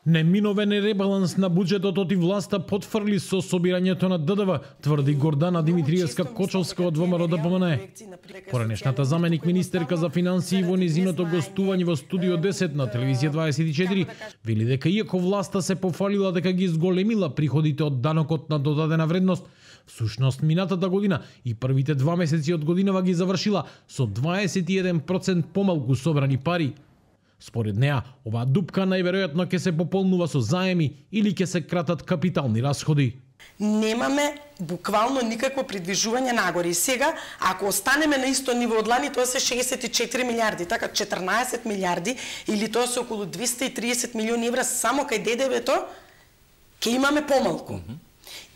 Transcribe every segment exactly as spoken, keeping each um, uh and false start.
Неминовен е ребаланс на буџетот оти власта потврли со собирањето на Д Д В, тврди Гордана Димитриевска-Кочовска од ВМРО Д П М Н. Поранешната заменик министерка за финансии во низиното гостување во Студио десет на телевизија дваесет и четири вели дека иако власта се пофалила дека ги зголемила приходите од данокот на додадена вредност, всушност минатата година и првите два месеци од годинава ги завршила со дваесет и еден проценти помалку собрани пари. Според неа, оваа дупка најверојатно ќе се пополнува со заеми или ќе се кратат капитални расходи. Немаме буквално никакво придвижување нагоре. И сега, ако останеме на исто ниво од лани, тоа се шеесет и четири милиарди, така четрнаесет милиарди или тоа се околу двесте и триесет милиони евра само кај Д Д В-то, ќе имаме помалку. Mm -hmm.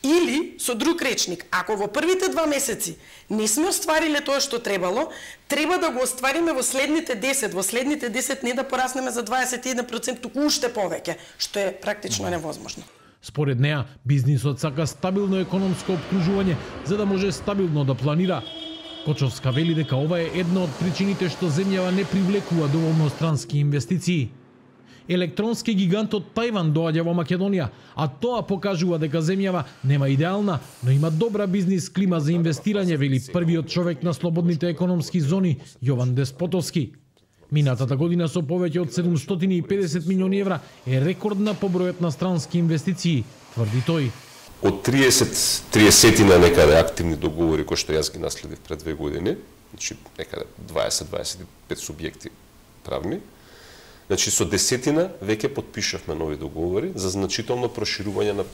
Или, со друг речник, ако во првите два месеци не сме оствариле тоа што требало, треба да го оствариме во следните десет, во следните десет не да пораснеме за дваесет и еден проценти, туку уште повеќе, што е практично невозможно. Според неа, бизнисот сака стабилно економско обкружување за да може стабилно да планира. Кочовска вели дека ова е една од причините што земјава не привлекува доволно странски инвестиции. Електронски гигантот Тајван доаѓа во Македонија, а тоа покажува дека земјава нема идеална, но има добра бизнис клима за инвестирање, вели првиот човек на слободните економски зони Јован Деспотовски. Минатата година со повеќе од седумстотини и педесет милиони евра е рекордна по бројот на странски инвестиции, тврди тој. Од триесет триесет некаде активни договори кои што јас ги наследив пред две години, значи некаде дваесет до дваесет и пет субјекти правни. Значи со десетина веќе потпишавме нови договори за значително проширување на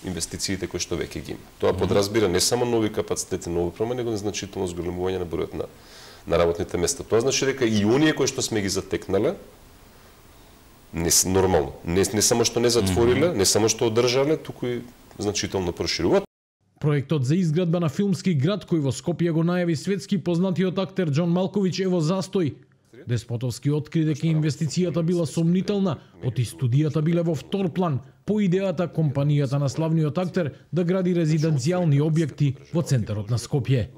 инвестициите кои што веќе ги има. Тоа подразбира не само нови капацитети, нови промени, него и значително зголемување на бројот на на работните места. Тоа значи дека и оние кои што сме ги затекнале не нормално, не, не само што не затвориле, не само што одржале, туку и значително прошируваат. Проектот за изградба на филмски град кој во Скопје го најави светски познатиот актер Џон Малкович е во застој. Деспотовски откри дека инвестицијата била сомнителна, оти студијата биле во втор план, по идејата компанијата на славниот актер да гради резиденцијални објекти во центарот на Скопје.